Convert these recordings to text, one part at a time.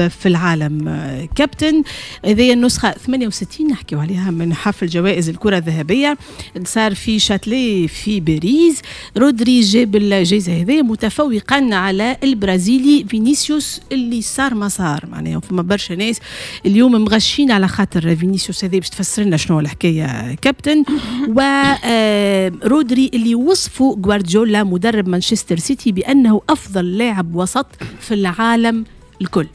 في العالم. كابتن، هذه النسخة 68 نحكيو عليها من حفل جوائز الكرة الذهبية صار في شاتلي في باريس. رودري جاب الجائزة هذه متفوقا على البرازيلي فينيسيوس اللي صار ما صار، معناها فما برشا ناس اليوم مغشين على خاطر فينيسيوس هذا. باش تفسر لنا شنو الحكاية كابتن؟ ورودري اللي وصفه غوارديولا مدرب مانشستر سيتي بأنه أفضل لاعب وسط في العالم الكل.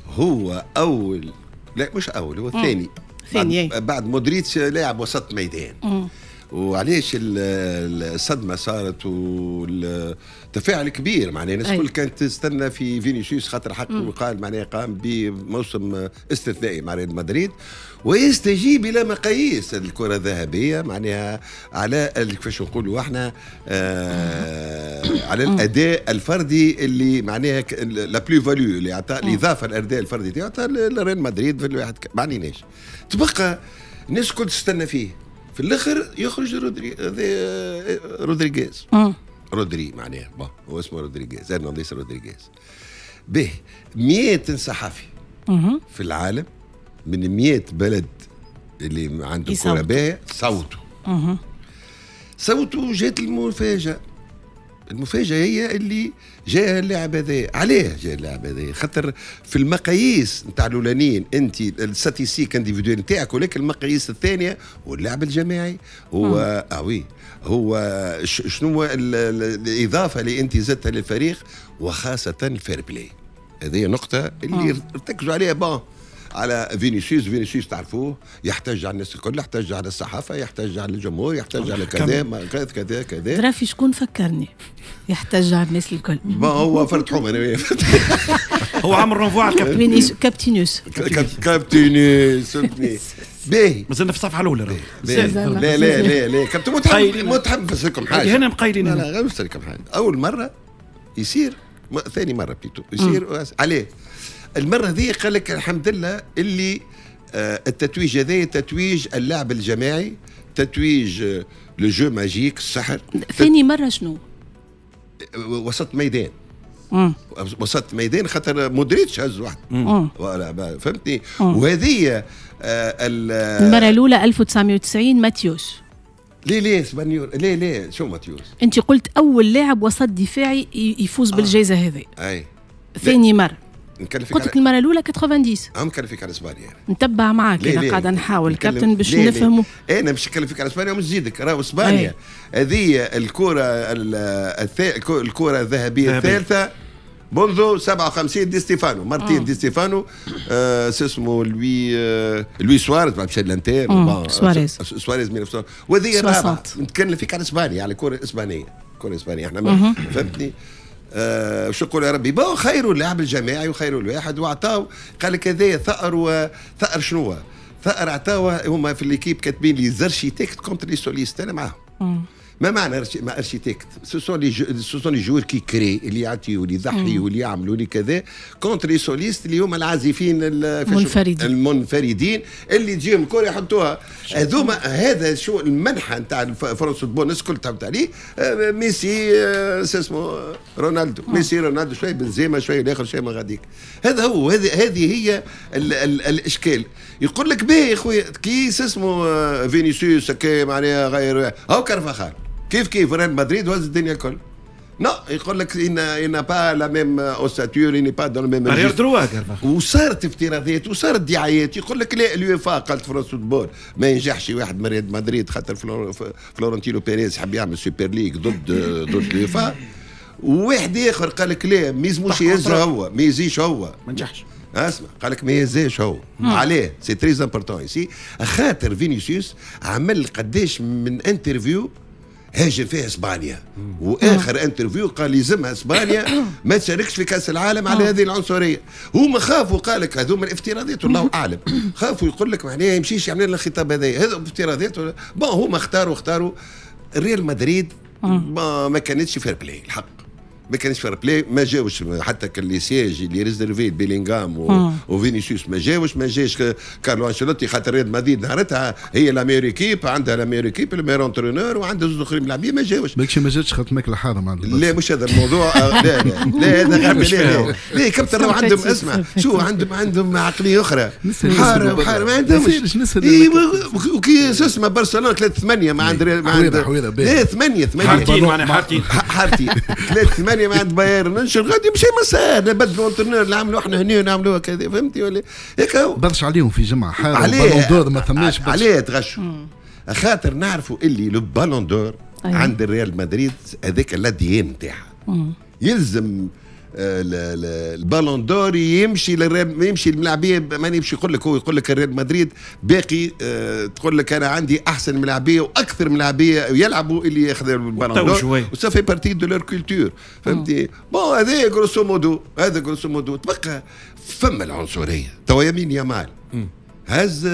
هو أول، لا مش أول، هو الثاني. ثاني بعد مودريتش لاعب وسط ميدان. وعلاش الصدمة صارت والتفاعل كبير؟ معناها الناس الكل كانت تستنى في فينيسيوس خاطر حق وقال معناها قام بموسم استثنائي مع ريال مدريد ويستجيب الى مقاييس الكره الذهبيه، معناها على كيفاش نقولوا احنا على الاداء الفردي اللي معناها la plus-value اللي عطى الاضافة، الاداء الفردي تاعو لريال مدريد في الواحد. ما عليناش، تبقى الناس الكل تستنى فيه، في الاخر يخرج رودري، رودريغيز، رودري معناها، bon هو اسمه رودريغيز، هرنانديز رودريغيز. به 100 صحفي في العالم من 100 بلد اللي عنده كرة باهية صوتوا صوتوا. جات المفاجأة، المفاجأة هي اللي جاء اللاعب هذا. عليه جاء اللاعب هذا؟ خاطر في المقاييس نتاع الاولانيين انت ال statistiques individuelles نتاعك، ولكن المقاييس الثانية هو اللعب الجماعي، هو ah oui هو شنو الاضافة اللي انت زدتها للفريق، وخاصة ال fair-play. هذه نقطة اللي ارتكزوا عليها. bon، على فينيسيوس، فينيسيوس تعرفوه يحتج على الناس الكل، يحتج على الصحافه، يحتج على الجمهور، يحتج على كذا كذا كذا كذا. ترى في شكون فكرني يحتج على الناس الكل؟ ما هو فرد حومه انا. هو عامل renvoi على الكابتن. فينيسيوس كابتينوس. كابتينوس، فهمتني؟ باهي. مازلنا في الصفحة الاولى. لا لا لا لا كابتن، متحب متحب نفسر حاجه. هنا مقايلين. لا لا، غير نفسر لكم حاجه. اول مرة يصير، ثاني مرة plutôt يصير. عليه المرة ذي؟ قال لك الحمد لله اللي التتويج هذا تتويج اللعب الجماعي، تتويج le jeu magique، السحر. ثاني مرة شنو؟ وسط ميدان. وسط ميدان، خاطر مودريتش هز واحد، فهمتني؟ وهذه المرة الاولى 1990 ماتيوس. ليه ليه اسبانيول، ليه ليه شو ماتيوس؟ انت قلت اول لاعب وسط دفاعي يفوز بالجائزة هذه. اي. ثاني مرة. نكلفك. قلت لك المرة الاولى 90. هم نكلفك على اسبانيا. نتبع معاك، انا قاعدة نحاول كابتن باش نفهموا. انا باش نكلفك على اسبانيا ومش نزيدك، راهو اسبانيا هذه الكره الذهبية الثالثة منذ 57 دي ستيفانو، مارتين دي ستيفانو، اسمه لوي سواريز بعد مشى الانتر. سواريز. سواريز 1900، وهذه الرابعه. نتكلم فيك على اسبانيا، على الكره الاسبانيه، الكره الاسبانية احنا، فهمتني؟ شو نقول يا ربي؟ bon، خيروا اللاعب الجماعي وخيروا الواحد وعطاو، قال لك هذايا ثأر. وثأر شنو؟ ثأر عطاوه هما في l'équipe كاتبين les architectes contre les solistes. انا معاهم. ما معنى ما architecte؟ ce sont les joueurs qui créent، اللي يعطيوا واللي يضحيوا واللي يعملوا اللي كذا، contre les solistes اللي هما العازفين المنفردين. المنفردين اللي تجيهم الكره يحطوها. هذوما هذا شو المنحى نتاع فرانس فوتبول، الناس الكل تعبت عليه. ميسي، اسمه رونالدو، ميسي رونالدو، شوية بنزيما، شوية الاخر، شوية ما غاديك. هذا هو، هذه هي ال ال الاشكال. يقول لك باهي يا خويا، كي اسمه فينيسيوس كي معناها غير هاو كارفاخال كيف كيف ريال مدريد وهز الدنيا الكل. non، يقول لك il n'a pas la même ossature، il n'est pas dans le même arrière droit. وصارت افتراضات وصارت دعايات، يقول لك لا، اليوفا قالت فرانس فوتبول ما ينجحش واحد من ريال مدريد، خاطر فلورنتينو بيريز حب يعمل super league ضد اليوفا. وواحد اخر قال لك لا، ما يلزموش يهز هو، ما يزيش هو. ما نجحش. اسمع، قال لك ما يهزاش هو. عليه؟ c'est très important ici، خاطر فينيسيوس عمل قداش من interview هاجم فيها اسبانيا، واخر interview قال يلزمها اسبانيا ما تشاركش في كاس العالم على هذه العنصريه. هما خافوا، قال لك هذوما الافتراضات والله اعلم، خافوا يقول لك معناها يمشيش يعمل لنا الخطاب هذا، هذا افتراضات. bon، هما اختاروا ريال مدريد، ما كانتش fair-play الحق. ما كانش fair-play، ما جاوش حتى les sièges اللي réservés بيلينغهام وفينيسيوس ما جاوش، ما جاش كارلو انشيلوتي، خاطر ريال مدريد نهارتها هي la meilleure équipe، عندها la meilleure équipe، ال meilleur entraîneur، وعندها زوج اخرين لاعبين ما جاوش. بالكش ما جاتش خاطر ماكله حارة مع لا مش هذا الموضوع، لا لا لا، هذا غير لا لا لا كابتن، راهو عندهم، اسمع شو عندهم عقلية اخرى، حارة وحاره ما عندهمش. وكي اسمع برشلونة 3-8 ما عند ما عند لا 8-8 حارتين، معناها حارتين. حارتين 3-8 ما عند بايرن منشن غادي مشي مسار، نبدلوا entraîneur، نعملوا احنا هنا ونعملوها كذا، فهمتي ولا هيك؟ برشا عليهم في جمعه حارة ballon d'or ما ثماش. عليه تغشوا، خاطر نعرفوا اللي le ballon d'or عند الريال مدريد هذاك l'ADN نتاعها، يلزم ال ballon d'or يمشي للريال، يمشي الملاعبيه، ما يمشي يقول لك، هو يقول لك الريال مدريد باقي تقول لك انا عندي احسن ملاعبيه واكثر ملاعبيه يلعبوا اللي ياخذ ال ballon d'or و ça fait partie de leur culture، فهمتي؟ bon هذا grosso modo، هذا grosso modo. تبقى فما العنصريه، توا يمين يامال هز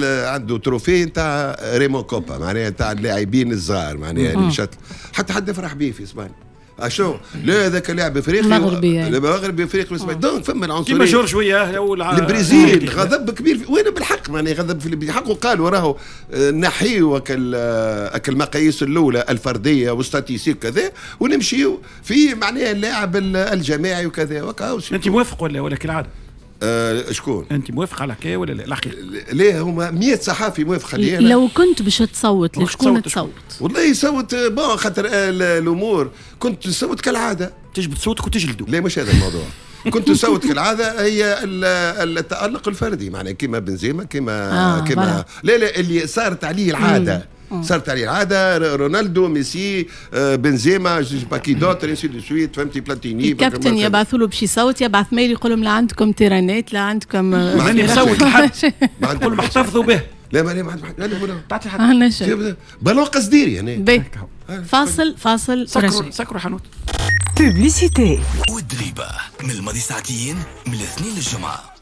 عنده trophée نتاع ريمون كوبا، معناها نتاع اللاعبين الصغار، معناها اللي شات حتى حد فرح به في اسبانيا، اشو لا هذاك لاعب افريقي مغربي. مغربي افريقي، donc فما العنصريه. كيما جورج وياه. البرازيل غضب كبير، وين بالحق معناها غضب في حقه، قالوا راهو نحيوا اكل المقاييس الاولى الفردية و statistiques كذا ونمشيو في معناها اللاعب الجماعي وكذا. انت موافق ولا كالعادة؟ شكون؟ انت موافق على الحكاية ولا لا؟ الحقيقة ليه هما 100 صحافي موافق عليه. لو كنت باش تصوت لشكون تصوت؟ والله يصوت، bon خاطر الامور كنت نصوت كالعادة. تجبد صوتك وتجلده. لا مش هذا الموضوع، كنت نصوت كالعادة هي التالق الفردي، معناها كيما بنزيما كيما كيما لا لا اللي صارت عليه العاده، صارت عليه العاده، رونالدو، ميسي، بنزيما، je sais pas qui d'autre، ainsi de suite، فهمتي؟ بلاتيني. الكابتن يبعثوا له باش يصوت، يبعث mail يقول لهم لا عندكم تيرانات لا عندكم. ماني نصوت لحد، نقول احتفظوا به. لا ما ما لا لا. تعطي حد بالون قصديري يعني. فاصل فاصل. سكروا سكروا حانوت. publicité والدريبة من الماضي ساعتين من الاثنين للجمعة.